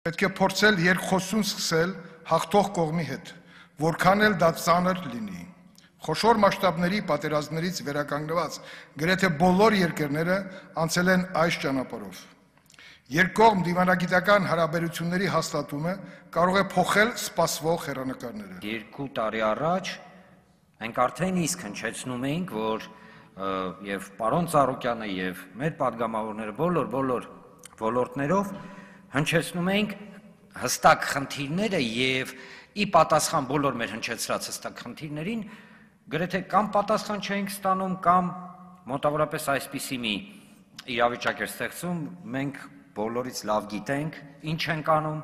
Պետք է փորձել երկխոսություն սկսել հաղթող կողմի հետ, որքան էլ դա ծանր լինի։ Խոշոր մասշտաբների պատերազմներից վերականգնված գրեթե բոլոր երկրները անցել են այս ճանապարհով։ Երկկողմ դիվանագիտական հարաբերությունների հաստատումը կարող է փոխել սպասվող հեռանկարները։ 2 տարի առաջ մենք արդեն իսկ հնչեցնում էինք, որ եւ պարոն Ծառուկյանը եւ մեր падգամավորները բոլոր ոլորտներով հնչեցնում էինք հստակ խնդիրները եւ ի պատասխան բոլոր մեր հնչեցրած հստակ խնդիրներին գրեթե կամ պատասխան չէինք ստանում, կամ մոտավորապես այսպիսի մի իրավիճակ էր ստեղծում, մենք բոլորից լավ գիտենք, ինչ ենք անում,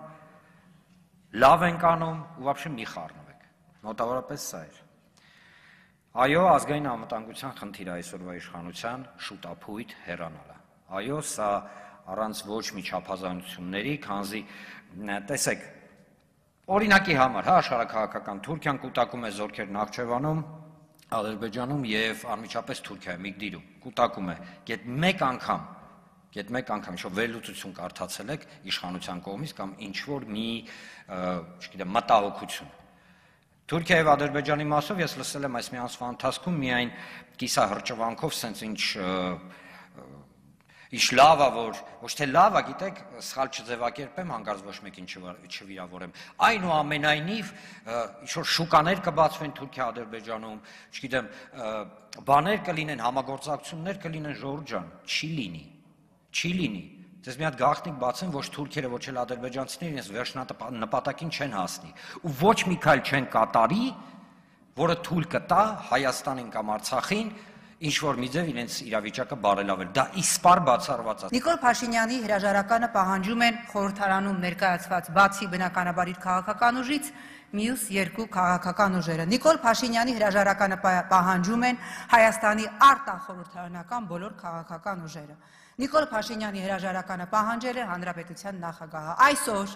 լավ ենք անում ու вообще մի խառնվեք, մոտավորապես սա էր։ Այո, ազգային անվտանգության խնդիրը այսօրվա իշխանության շուտափույթ հեռանալը։ Այո, սա առանց ոչ մի չափազանությունների, քանզի տեսեք, օրինակի համար, աշխարհաքաղաքական Թուրքիան կուտակում է զորքեր Նախճեվանում, Ադրբեջանում եւ անմիջապես Թուրքիայում, Իգդիրում, կուտակում է, գետ մեկ անգամ, ինչ-որ վերլուծություն կարդացել եք իշխանության կողմից կամ ինչ-որ մի, չգիտեմ, մտահոգություն։ Թուրքիա եւ Ադրբեջանի մասով ես լսել եմ այս մի ամսվա ընթացքում միայն կիսահրճվանքով սենց ինչ լավա, որ ոչ թե լավա, գիտեք, սխալ չձևակերպեմ, հանկարծ ոչ մեկին չվիրավորեմ։ Այնուամենայնիվ, ինչ-որ շուկաներ կբացվեն Թուրքիա-Ադրբեջանում, չգիտեմ, բաներ կլինեն, համագործակցություններ կլինեն, Ժողովուրդ ջան, չի լինի։ Ձեզ մի հատ գաղտնիք բացեմ, ոչ թուրքերը, ոչ էլ ադրբեջանցիները իրենց վերջնապատակին չեն հասնի։ Ու ոչ մի քայլ չեն կատարի, որը թույլ կտա Հայաստանին կամ Արցախին ինչ-որ մի ձև իրենց իրավիճակը բարելավել։ Դա իսպար բացառված է։ Նիկոլ Փաշինյանի հրաժարականը պահանջում են խորհրդարանում ներկայացված բացի բնականաբար իր քաղաքական ուժից, մյուս 2 քաղաքական ուժերը։ Նիկոլ Փաշինյանի հրաժարականը պահանջում են Հայաստանի արտախորհրդարանական բոլոր քաղաքական ուժերը։ Նիկոլ Փաշինյանի հրաժարականը պահանջել է Հանրապետության նախագահը։ Այսօր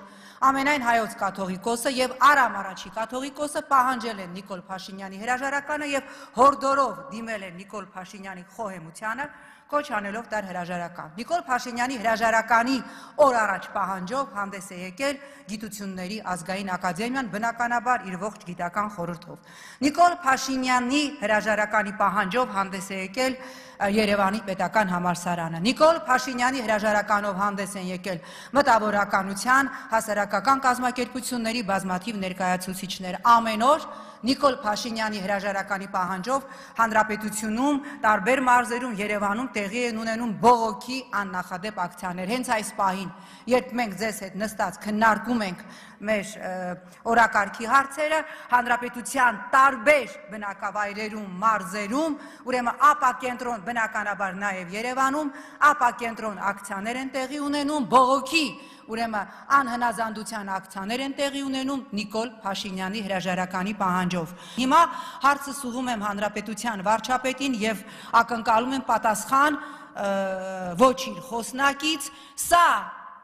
ամենայն հայոց կաթողիկոսը եւ Արամ առաջի կաթողիկոսը պահանջել են Նիկոլ Փաշինյանի հրաժարականը եւ հորդորով դիմել են Նիկոլ Փաշինյանի խոհեմությանը, կոչ անելով դար հրաժարական։ Նիկոլ Փաշինյանի հրաժարականի օր առաջ պահանջով հանդես է եկել Գիտությունների ազգային ակադեմիան, բնականաբար իր ողջ գիտական խորհրդով։ Նիկոլ Փաշինյանի հրաժարականի պահանջով հանդես է եկել Երևանի պետական համալսարանը։ Նիկոլ Փաշինյանի հրաժարականով հանդես են եկել մտավորականության, հասարակական կազմակերպությունների բազմաթիվ ներկայացուցիչներ։ Ամեն օր Նիկոլ Փաշինյանի հրաժարականի պահանջով Հանրապետությունում, տարբեր մարզերում, Երևանում տեղի են ունենում բողոքի աննախադեպ ակցիաներ։ Հենց այս պահին, երբ մենք ձեզ հետ նստած քննարկում ենք մեր օրակարգի հարցերը, Հանրապետության տարբեր բնակավայրերում, մարզերում, ուրեմն ապակենտրոն, բնականաբար նաև Երևանում, ապակենտրոն ակցիաներ են տեղի ունենում, բողոքի, ուրեմն անհնազանդության ակցիաներ են տեղի ունենում Նիկոլ Փաշինյանի հրաժարականի պահանջով։ Հիմա հարցս ուղղում եմ Հանրապետության վարչապետին եւ ակնկալում եմ պատասխան ոչ իր խոսնակից, սա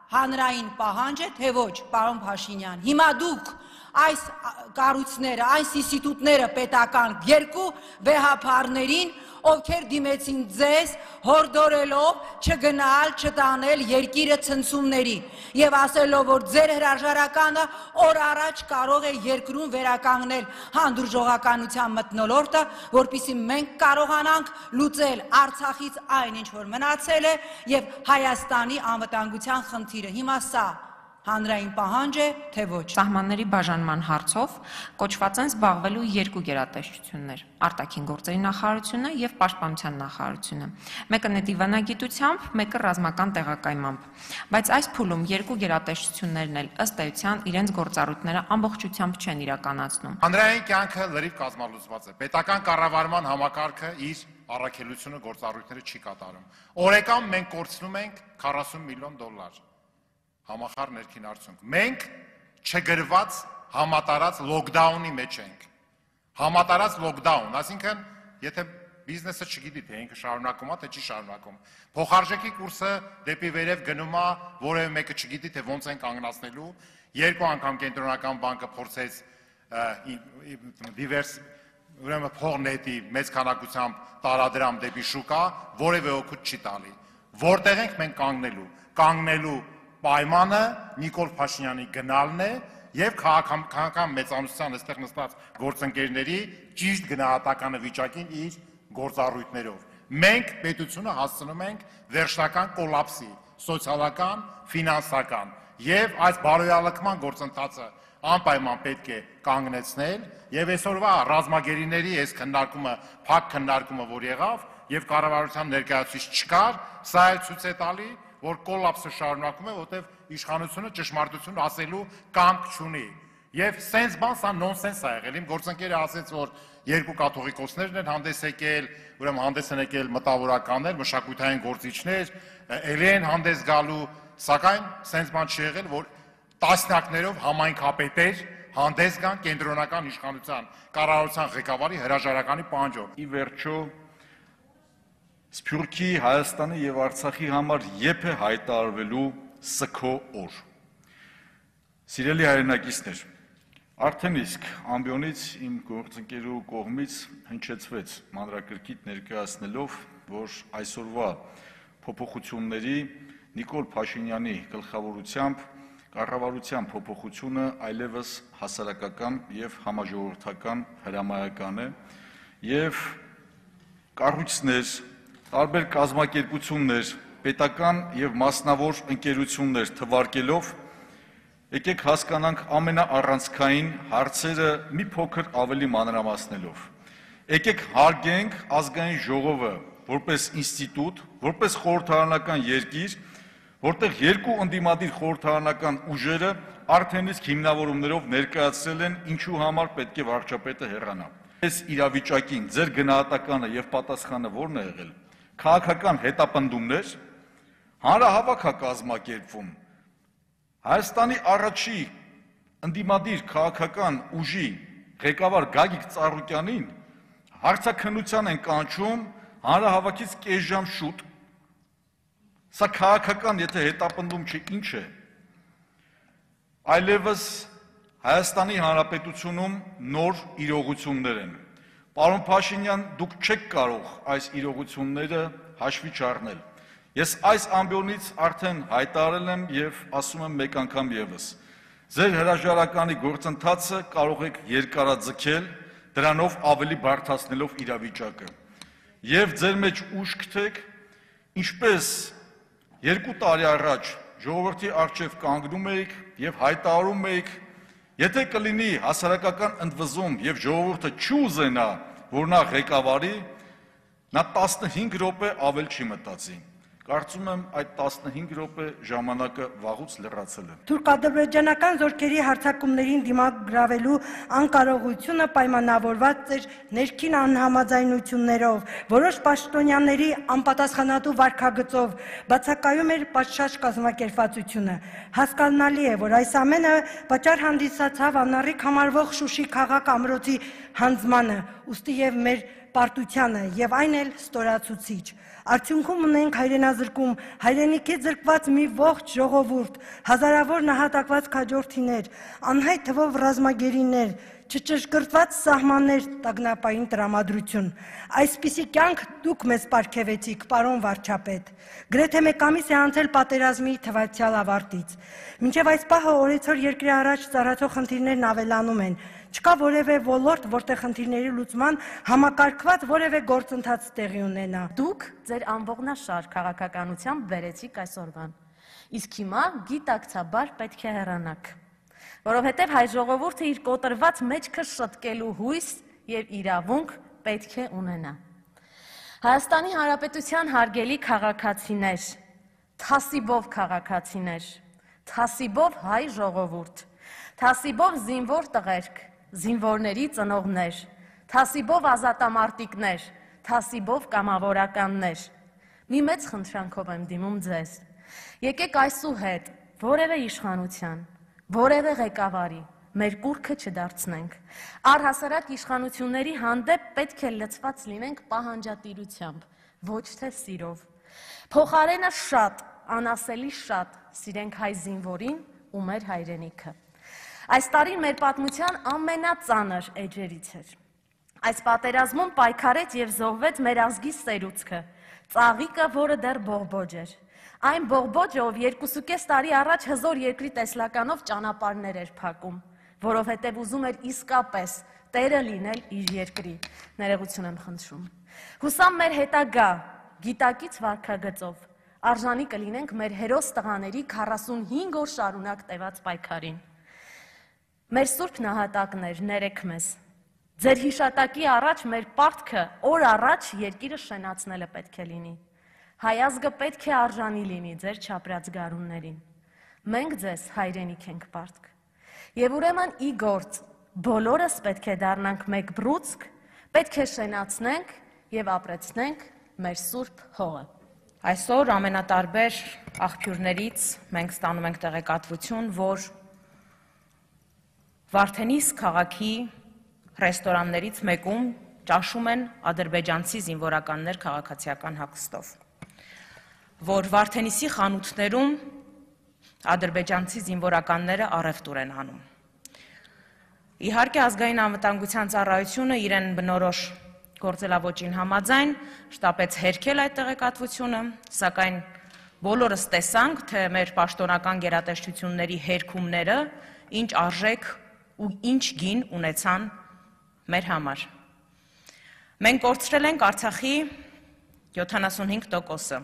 հանրային պահանջ է, թե ոչ, պարոն Փաշինյան։ Հիմա դուք այս կառույցները, այս ինստիտուտները պետական 2 վեհափարներին, ովքեր դիմեցին ձեզ հորդորելով չգնալ, չտանել երկիրը ցնցումների եւ ասելով, որ ձեր հրաժարականը օր առաջ կարող է երկրում վերականգնել հանդուրժողականության մթնոլորտը, որպեսզի մենք կարողանանք լուծել Արցախից այն, ինչ որ մնացել է եւ Հայաստանի անվտանգության խնդիրը։ Հիմա սա հանրային պահանջ է, թե ոչ։ Սահմանների բաժանման հարցով կոչված են զբաղվելու 2 գերատեսչություններ՝ արտաքին գործերի նախարարությունը եւ պաշտպանության նախարարությունը։ Մեկը նետիվանագիտությամբ, մեկը ռազմական տեղակայմամբ։ Բայց այս փուլում 2 գերատեսչություններն էլ ըստ էության իրենց գործառույթները ամբողջությամբ չեն իրականացնում։ Հանրային կյանքը լրիվ կազմալուծված է։ Պետական կառավարման համակարգը իր առաքելությունը գործառույթները չի կատարում։ Օրեկան մենք կորցնում ենք $40 միլիոն համախառն ներքին արդյունք։ Մենք չգրված համատարած լոկդաունի մեջ ենք։ Համատարած լոկդաուն, այսինքն, եթե բիզնեսը չգիտի, թե ինքը շարունակում է, թե չի շարունակում։ Փոխարժեքի կուրսը դեպի վերև գնում է, որևէ մեկը չգիտի, թե ոնց են կանգնացնելու։ 2 անգամ կենտրոնական բանկը փորձեց դիվերս ուրեմն փողնետի մեծ քանակությամբ տարադրամ դեպի շուկա, որևէ օգուտ չի տալի։ Որտեղ ենք մենք կանգնելու պայմանը Նիկոլ Փաշինյանի գնալն է եւ քաղաքական մեծամասնության այստեղ նստած գործընկերների ճիշտ գնահատականը վիճակին իր գործառույթներով։ Մենք պետությունը հասցնում ենք վերջնական կոլապսի, սոցիալական, ֆինանսական եւ այս բարոյալքման գործընթացը անպայման պետք է կանգնեցնել եւ այսօրվա ռազմագերիների այս քննարկումը, փակ քննարկումը, որ եղավ եւ կառավարության ներկայացուցիչ չկար, սա էլ ցույց է տալի, որ կոլապսը շարունակում է, որտեղ իշխանությունը ճշմարտություն ասելու կամք չունի։ Եվ սենց բան սա նոնսենս է եղել։ Իմ գործընկերը ասեց, որ երկու կաթողիկոսներն են հանդես եկել, ուրեմն հանդես են եկել մտավորականներ, մշակութային գործիչներ, ելի են հանդես գալու, սակայն սենց բան չի եղել, որ տասնյակներով համայնքապետեր հանդես գան կենտրոնական իշխանության կառավարության ղեկավարի հրաժարականի պահանջով։ Ի վերջո Սփյուռքի, Հայաստանի եւ Արցախի համար եփե հայտարարվելու սքո օր։ Սիրելի հայրենակիցներ, արդեն իսկ ամբիոնից իմ գործընկերու կողմից հնչեցվեց մանրակրկիտ ներկայացնելով, որ այսօրվա փոփոխությունների Նիկոլ Փաշինյանի գլխավորությամբ կառավարության փոփոխությունը այլևս հասարակական եւ համաժողովրդական հրամայական է եւ կառույցներ, տարբեր կազմակերպություններ, պետական եւ մասնավոր ընկերություններ թվարկելով եկեք հասկանանք ամենաառանցքային հարցերը մի փոքր ավելի մանրամասնելով։ Եկեք հարգենք ազգային ժողովը որպես ինստիտուտ, որպես խորհրդարանական երկիր, որտեղ երկու ընդդիմադիր խորհրդարանական ուժերը արդեն իսկ հիմնավորումներով ներկայացրել են ինչու համար պետք է վարչապետը հեռանա։ Այս իրավիճակին ձեր գնահատականը եւ պատասխանը ո՞րն է եղել։ Քաղաքական հետապնդումներ, հանրահավաք է կազմակերպվում։ Հայաստանի առաջի ընդդիմադիր քաղաքական ուժի ղեկավար Գագիկ Ծառուկյանին հարցաքննության են կանչում հանրահավաքից կես ժամ շուտ։ Սա քաղաքական, եթե հետապնդում չէ, ինչ է։ Այլևս Հայաստանի Հանրապետությունում նոր իրողություններ են։ Պարոն Փաշինյան, դուք չեք կարող այս իրողությունները հաշվի չառնել։ Ես այս ամբիոնից արդեն հայտարարել եմ եւ ասում եմ մեկ անգամ եւս։ Ձեր հրաժարականի գործընթացը կարող եք երկարաձգել, դրանով ավելի բարդացնելով իրավիճակը։ Եվ ձեր մեջ ուժ գտեք, ինչպես 2 տարի առաջ ժողովրդի առջև կանգնում եք եւ հայտարարում եք, եթե կլինի հասարակական ընդվզում եւ ժողովուրդը չուզենա, որ նա ղեկավարի, նա 15 րոպե ավել չի մտածի։ Կարծում եմ այդ 15 րոպե ժամանակը վաղուց լրացել է։ Թուրք-ադրբեջանական զորքերի հարձակումներին դիմագրավելու անկարողությունը պայմանավորված էր ներքին անհամաձայնություններով, որոշ պաշտոնյաների անպատասխանատու վարքագծով, բացակայում էր պատշաճ կազմակերպվածությունը։ Հասկանալի է, որ այս ամենը պատճառ հանդիսացավ անառիկ համարվող Շուշի քաղաք ամրոցի հանձնմանը, ուստի եւ մեր պարտությանը, եւ այն էլ ստորացուցիչ։ Արդյունքում ունենք հայրենազրկում, հայրենիքի զրկված մի ողջ ժողովուրդ, հազարավոր նահատակված քաջորդիներ, անհայտ թվով ռազմագերիներ, չճշգրտված սահմաններ, տագնապային տրամադրություն։ Այսպիսի կյանք դուք մեզ պարգևեցիք, պարոն վարչապետ։ Գրեթե մեկ ամիս է անցել պատերազմի թվացյալ ավարտից։ Մինչև այս պահը օրեցօր երկրի առաջ ծառացող խնդիրներն ավելանում են։ Չկա որևէ ոլորտ, որտեղ խնդիրների լուծման համակարգված որևէ գործընթաց տեղի ունենա։ Դուք ձեր ամբողնաշար քաղաքականությամբ բերեցիք այսօրվան։ Իսկ հիմա գիտակցաբար պետք է հեռանաք, որովհետև հայ ժողովուրդը իր կոտրված մեջքը շտկելու հույս եւ իրավունք պետք է ունենա։ Հայաստանի Հանրապետության հարգելի քաղաքացիներ, թասիբով քաղաքացիներ, թասիբով հայ ժողովուրդ, թասիբով զինվոր տղերք, զինվորների ծնողներ, թասիբով ազատամարտիկներ, թասիբով կամավորականներ։ Մի մեծ խնդրանքով եմ դիմում ձեզ։ Եկեք այսուհետ որևէ իշխանության, որևէ ղեկավարի մեր կուռքը չդարձնենք։ Առհասարակ իշխանությունների հանդեպ պետք է լցված լինենք պահանջատիրությամբ, ոչ թե սիրով։ Փոխարենը շատ, անասելի շատ սիրենք հայ զինվորին ու մեր հայրենիքը։ Այս տարին մեր պատմության ամենածանր էջերից էր։ Այս պատերազմում պայքարեց եւ զոհվեց մեր ազգի սերուցքը, ծաղիկը, որը դեռ բողբոջ էր։ Այն բողբոջը, ով 2.5 տարի առաջ հզոր երկրի տեսլականով ճանապարհներ էր փակում, որովհետև ուզում էր իսկապես տերը լինել իր երկրի։ Ներողություն եմ խնդրում։ Հուսամ մեր հետագա գիտակից վարքագծով արժանի կլինենք մեր հերոս տղաների 45 օր շարունակ տևած պայքարին։ Մեր սուրբ նահատակներ, ներեք մեզ։ Ձեր հիշատակի առաջ մեր պարտքը օր առաջ երկիրը շենացնելը պետք է լինի։ Հայազգը պետք է արժանի լինի ձեր չապրած գարուններին։ Մենք ձեզ հայրենիք ենք պարտք։ Եվ ուրեմն ի գործ բոլորս պետք է դառնանք մեկ բռուցք, պետք է շենացնենք եւ ապրեցնենք մեր սուրբ հողը։ Այսօր ամենատարբեր աղբյուրներից մենք ստանում ենք տեղեկատվություն, որ Վարդենիս քաղաքի ռեստորաններից մեկում ճաշում են ադրբեջանցի զինվորականներ քաղաքացիական հագստով, որ Վարդենիսի խանութներում ադրբեջանցի զինվորականները առևտուր են անում։ Իհարկե ազգային անվտանգության ծառայությունը իրեն բնորոշ գործելավոճին համաձայն շտապեց հերքել այդ տեղեկատվությունը, սակայն բոլորս տեսանք, թե մեր պաշտոնական գերատեսչությունների հերքումները ինչ արժեք ու ինչ գին ունեցան մեր համար։ Մենք կորցրել ենք Արցախի 75%-ը։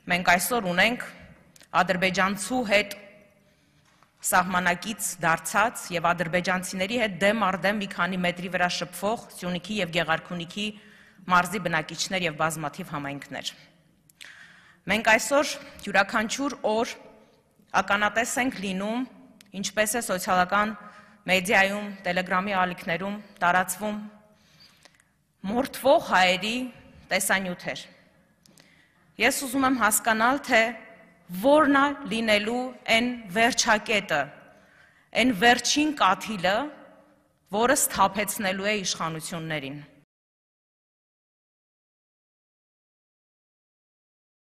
Մենք այսօր ունենք ադրբեջանցու հետ սահմանակից դարձած եւ ադրբեջանցիների հետ դեմ առ դեմ մի քանի մետրի վրա շփվող Սյունիքի եւ Գեղարքունիքի մարզի բնակիչներ եւ բազմաթիվ համայնքներ։ Մենք այսօր յուրաքանչյուր օր ականատես ենք լինում, ինչպես է սոցիալական մեդիայում, Տելեգրամի ալիքներում տարածվում մորթվող հայերի տեսանյութեր։ Ես ուզում եմ հասկանալ, թե որն է լինելու այն վերջակետը, այն վերջին կաթիլը, որը սթափեցնելու է իշխանություններին։